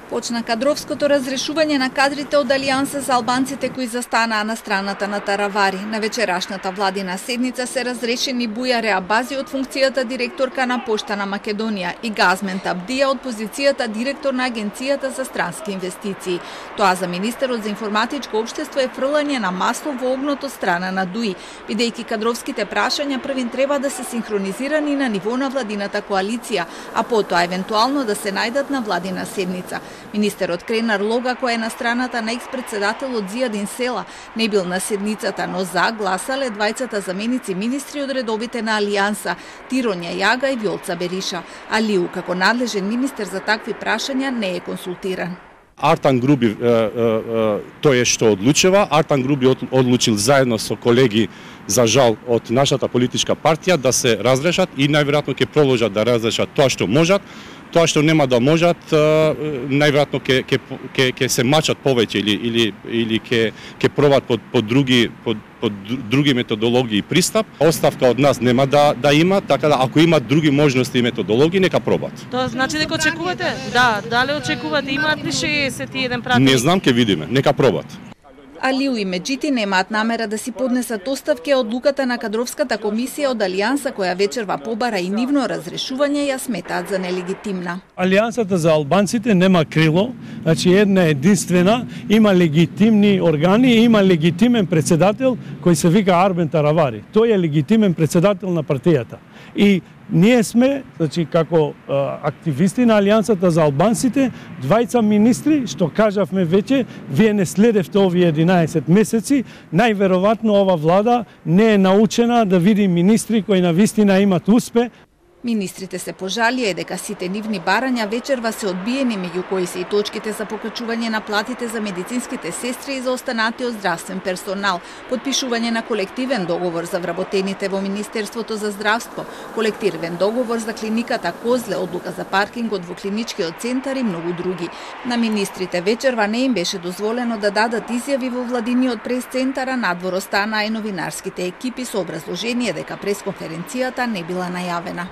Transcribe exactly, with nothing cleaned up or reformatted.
Почна кадровското разрешување на кадрите од Алијанса за албанците кои застанаа на страната на Таравари. На вечерашната владина седница се разрешени Буја Реабази од функцијата директорка на Пошта на Македонија и Газмен Табдија од позицијата директор на Агенцијата за странски инвестиции. Тоа за министерот за информатичко општество е фрлање на масло во огнот од страна на ДУИ, бидејќи кадровските прашања првин треба да се синхронизирани на ниво на владината коалиција, а потоа евентуално да се најдат на владина седница. Министерот Кренар Лога, кој е на страната на екс-председателот Зијадин Села, не бил на седницата, но за гласале двајцата заменици министри од редовите на Алијанса, Тиронја Јага и Вјолца Бериша. Алиу, како надлежен министер за такви прашања, не е консултиран. Артан Груби тој е што одлучува. Артан Груби одлучил заедно со колеги, за жал, од нашата политичка партија да се разрешат и најверојатно ќе продолжат да разрешат тоа што можат. Тоа што нема да можат, најверојатно ќе ќе ќе ќе се мачат повеќе или или или ќе ќе пробат под под други под под други методологии и пристап. Оставка од нас нема да да има, така да ако имат други можности и методологии, нека пробат. Тоа значи дека очекувате? Да, дали очекувате, имаат ли шеесет и еден пратеник? Не знам, ќе видиме, нека пробат. Алиу и Меджити немаат намера да си поднесат оставки, од одлуката на кадровската комисија од Алијанса која вечерва побара и нивно разрешување ја сметаат за нелегитимна. Алијансата за албанците нема крило, значи една единствена, има легитимни органи и има легитимен председател кој се вика Арбен Таравари. Тој е легитимен председател на партијата. И ние сме, значи, како а, активисти на Алијансата за албанците, двајца министри, што кажавме веќе, вие не следевте овие единаесет месеци, најверојатно ова влада не е научена да види министри кои навистина имат успех. Министрите се пожалија дека сите нивни барања вечерва се одбиени, меѓу кои се и точките за покачување на платите за медицинските сестри и за останатиот здравствен персонал, подпишување на колективен договор за вработените во Министерството за здравство, колективен договор за клиниката Козле, одлука за паркингот во клиничкиот центар и многу други. На министрите вечерва не им беше дозволено да дадат изјави во владиниот прес-центар, надвор останаа и новинарските екипи со образложение дека пресконференцијата не била најавена.